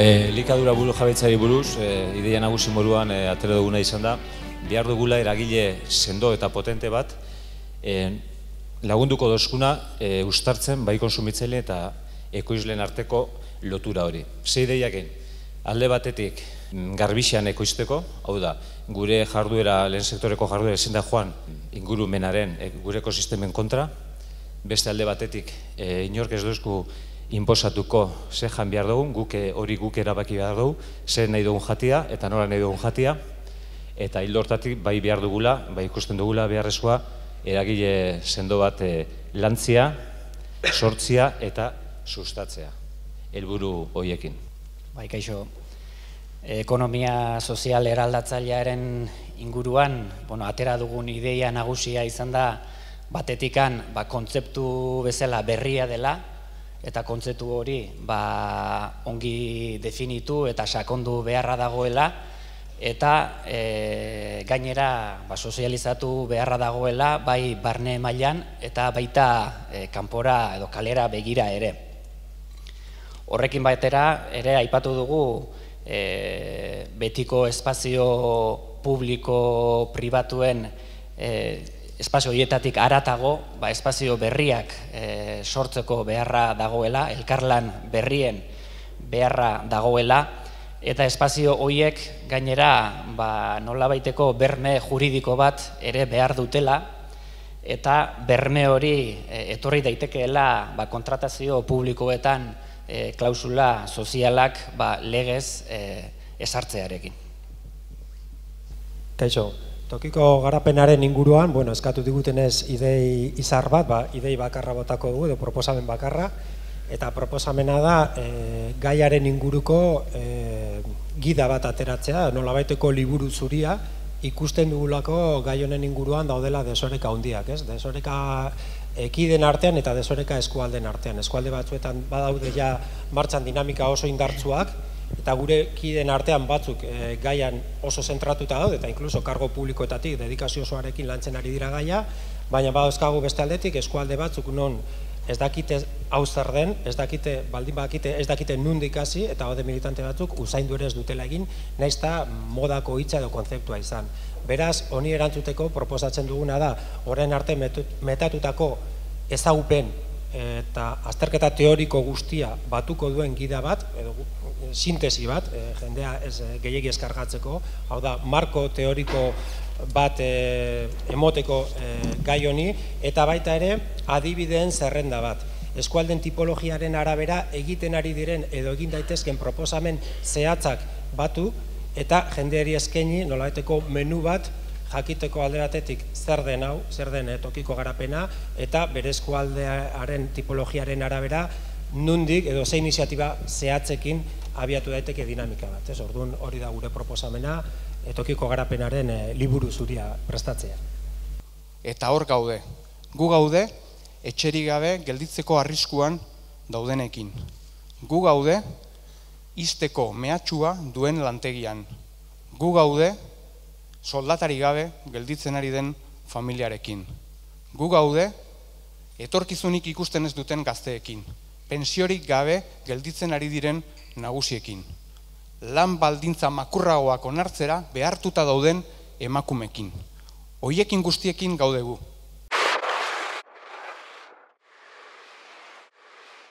Elikadura buru jabetzari buruz, ideia nagusi moduan atera duguna izan da, behar dugula eragile sendo eta potente bat lagunduko dozkuna uztartzen bai konsumitzaile eta ekoizleen arteko lotura hori. Ze ideiak egin, alde batetik garbixean ekoizteko, hau da, gure jarduera, lehen sektoreko jarduera ezin da joan ingurumenaren, gure ekosistemen kontra, beste alde batetik inork ez duzku inposatuko ze jan behar dugun, hori guk erabaki behar dugu, ze nahi dugun jatia eta nola nahi dugun jatia, eta hildo hortatik bai behar dugula, bai ikusten dugula beharrezkoa eragile sendo bat lantzia, sortzia eta sustatzea, helburu horiekin. Bai, kaixo, ekonomia sozial eraldatzailearen inguruan, atera dugun ideia nagusia izan da, batetikan kontzeptu bezala berria dela, eta kontzeptu hori ongi definitu eta sakondu beharra dagoela, eta gainera sozializatu beharra dagoela bai barne mailan eta baita kanpora edo kalera begira ere. Horrekin batera ere aipatu dugu betiko espazio publiko pribatuen espazio horietatik haratago espazio berriak sortzeko beharra dagoela, elkarlan berrien beharra dagoela, eta espazio horiek gainera nolabaiteko berme juridiko bat ere behar dutela, eta berme hori etorri daitekeela kontratazio publikoetan klausula sozialak legez ezartzearekin. Kaixo, tokiko garapenaren inguruan, eskatu digutenez idei izar bat, idei bakarra botako dugu, edo proposamen bakarra, eta proposamena da gaiaren inguruko gida bat ateratzea, nolabaiteko liburu zuria, ikusten dugulako gai honen inguruan daudela desoreka handiak, ez? Desoreka ekideen artean eta desoreka eskualden artean. Eskualde batzuetan badaude ja martxan dinamika oso indartsuak, eta gure kideen artean batzuk gaian oso zentratuta daude, eta inkluso kargo publikoetatik dedikazio osoarekin lantzen ari dira gaia, baina badauzkagu beste aldetik eskualde batzuk non ez dakite hau zer den, baldin bakite ez dakite nondik hasi, eta haude militante batzuk usaindu ere ez dutela egin, nahiz eta modako hitza edo kontzeptua izan. Beraz, honi erantzuteko proposatzen duguna da, orain arte metatutako ezagupen eta azterketa teoriko guztia batuko duen gida bat, edo sintesi bat, jendea gehiegi eskargatzeko, hau da, marko teoriko bat emoteko gai honi, eta baita ere adibideen zerrenda bat. Eskualden tipologiaren arabera egiten ari diren edo egin daitezken proposamen zehatzak batu, eta jendeari eskaini nolabaiteko menu bat jakiteko alde batetik zer den hau, zer den tokiko garapena, eta bere eskualdearen tipologiaren arabera nondik edo ze iniziatiba zehatzekin abiatu daiteke dinamika bat. Orduan hori da gure proposamena, tokiko garapenaren liburu zuria prestatzea. Eta hor gaude. Gu gaude etxerik gabe gelditzeko arriskuan daudenekin. Gu gaude ixteko mehatxua duen lantegian. Gu gaude soldatari gabe gelditzen ari den familiarekin. Gu gaude etorkizunik ikusten ez duten gazteekin. Pensiorik gabe gelditzen ari diren nagusiekin. Lan baldintza makurragoak onartzera behartuta dauden emakumekin. Hoiekin guztiekin gaudegu.